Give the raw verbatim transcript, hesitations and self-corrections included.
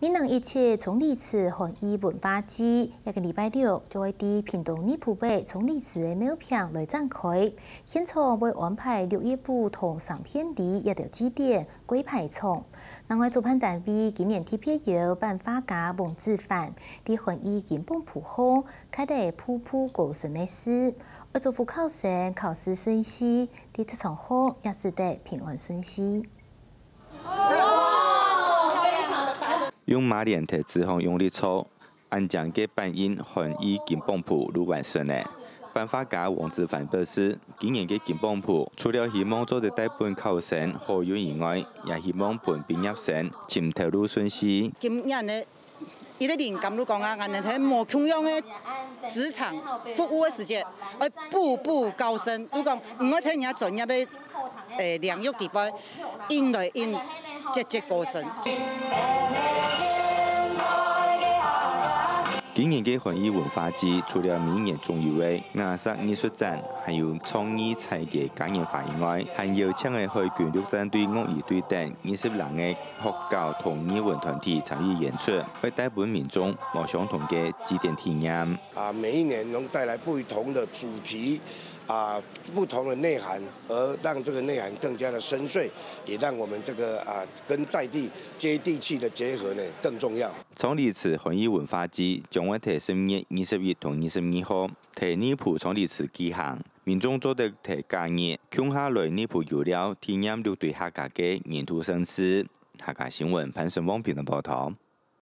二零一七蔥梨子漢醫文化祭，這個禮拜六就會在屏東二埔尾蔥梨子个廟坪來展開。現場會安排六月五同三片里這兜祭典、 跪牌場。另外，主辦單位今年特別邀版畫家黃子凡，在漢醫金榜簿項，刻了步步高升个字，愛祝福考生考試順序，在職場項也使得平安順序。用馬連坯紙項用力搓， 恁靚个版印漢醫金榜簿就完成了。版畫家黃子凡表示，今年个金榜簿除了希望做得帶分考生好運以外，也希望分畢業生尋頭路順序。今年呢，一個靈感就講啊，𠊎等係無共樣个職場服務个時節，愛步步高升。就講毋愛在人家專業个 誒，領域底背，應來應節節高升。今年个漢醫文化祭除了每年總有个雅石藝術展，還有創意彩个嘉年華以外，還邀請个海軍陸戰隊樂儀隊等二十零个學校同藝文團體參與演出，會帶分民眾無相同个祭典體驗。啊，每一年能帶來不同的主題，啊，不同的內涵，而讓這個內涵更加的深邃，也讓我們這個，啊，跟在地接地氣的結合呢，更重要。蔥梨子漢醫文化祭將會在十月二十一同二十二號，在二埔蔥梨子舉行。民眾做得在假日共下來二埔遊尞，體驗六堆客家个年度盛事。客家新聞潘成旺平的報導。